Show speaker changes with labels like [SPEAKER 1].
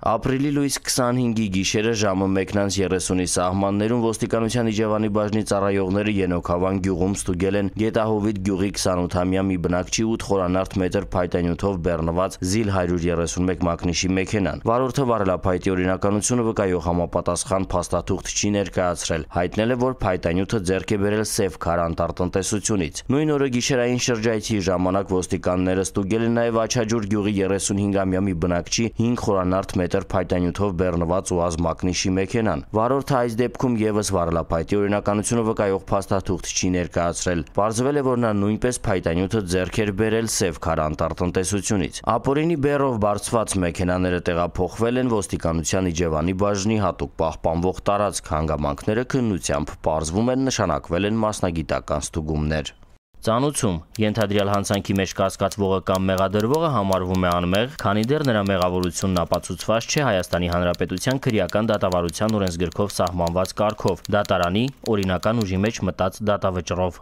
[SPEAKER 1] Ապրիլի լույս 25-ի գիշերը ժամը 1:30-ի սահմաններում ոստիկանության Իջևանի բաժնի ծառայողները Ենոքավան գյուղում ստուգել են Գետահովիտ գյուղի 28-ամյա մի բնակչի 8 խորանարդ մետր փայտանյութով բեռնված ZIL 131 մակնիշի մեքենան։ Վարորդը վարելափայտի օրինականությունը վկայող համապատասխան փաստաթուղթ չի ներկայացրել, հայտնել է, որ փայտանյութը ձեռք է բերել Սևքար անտառտնտեսությունից։ Նույն օրը գիշերային շրջայցի ժամանակ ոստիկանները ստուգել են նաև Աչաջուր գյուղի 35-ամյա մի բնակչի 5 խորանարդ մետր փայտանյութով բեռնված ՈՒԱԶ մակնիշի մեքենան։ Վարորդը այս դեպքում եւս վարելափայտի օրինականությունը վկայող փաստաթուղթ չի ներկայացրել։ Պարզվել է, որ նա նույնպես փայտանյութը ձեռք էր բերել Սևքար անտառտնտեսությունից։ Ապօրինի բեռով բարձված մեքենաները տեղափոխվել են ոստիկանության Իջևանի բաժնի հատուկ պահպանվող տարածք, հանգամանքները քննությամբ պարզվում են, նշանակվել են մասնագիտական ստուգումներ։ Ծանուցում ենթադրյալ հանցանքի մեջ կասկածվողը կամ մեղադրվողը համարվում է անմեղ, քանի դեռ նրա մեղավորությունն ապացուցված չէ Հայաստանի Հանրապետության քրեական դատավարության օրենսգրքով սահմանված կարգով՝ դատարանի օրինական ուժի մեջ մտած դատավճռով։